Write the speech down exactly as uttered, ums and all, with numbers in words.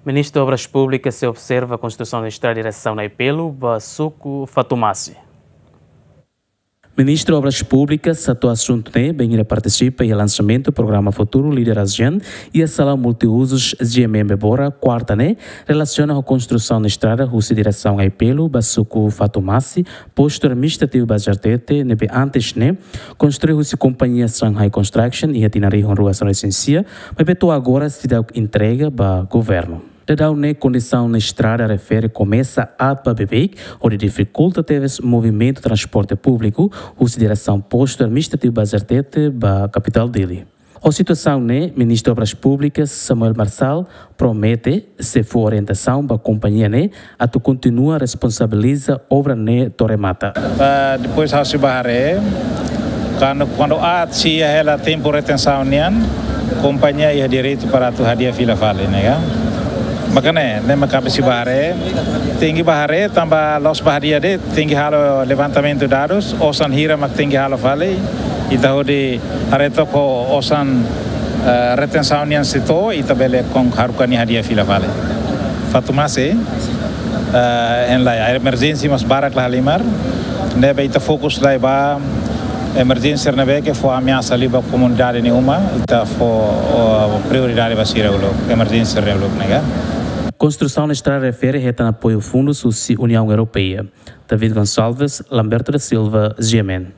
Ministru Obras Públikas sei observa konstrusaun estrada diresaun Naipelu ba suku Fatumasi. Ministru Obras Públikas hato'o asuntu ne'e bainhira partisipa iha lansamentu programa Futuru Líder Azian iha sala multiuzus G M M Bebora, kuarta ne'e, relasiona ho konstrusaun estrada husi diresaun Naipelu ba suku Fatumasi, postu administrativu Bazartete, ne'ebé antes ne'e konstrui husi kompañia Shanghai Construction iha tinan rihun rua sanulu-resin-sia, maibé to'o agora seidauk entrega ba governu. Daudaun ne'e kondisaun estrada refere komesa aat ba beibeik, hodi difikulta tebes movimentu transporte públiku husi diresaun postu administrativu Bazartete ba kapitál Dili. Ho situasaun ne'e, Ministru Obras Públikas Samuel Marçal promete sei fó orientasaun ba kompañia ne'e atu kontinua responsabiliza obra ne'e to'o remata. Ah, depois ha'u sei bá haree, kuandu, kuandu aat sei iha hela tempu retensaun nian, kompañia iha direitu para atu hadi'a fila fali, ne'e ka? Maka ne'e, ne'e mak ami sei bá haree, tenke bá haree, tanba la'ós bá hadi'a de'it, tenke halo levantamentu dadus, osan hira mak tenke halo fali, ita hodi haree took ho osan, eh, retensaun nian sei to'o, ita bele kon haruka nia hadi'a fila fali. Fatumasi, eh, hein lai, emerjénsia mós barak la halimar, ne'ebé ita fokus lai ba emerjénsia ne'ebé ke fó ameasa liu ba komunidade nia uma, ita fó, oh, prioridade ba sira uluk, emerjénsia ne'e uluk, ne'e ka? Konstrusaun estrada refere hetan apoiu fundus husi Uniaun Europeia. David Gonçalves, Lamberto da Silva, G M N.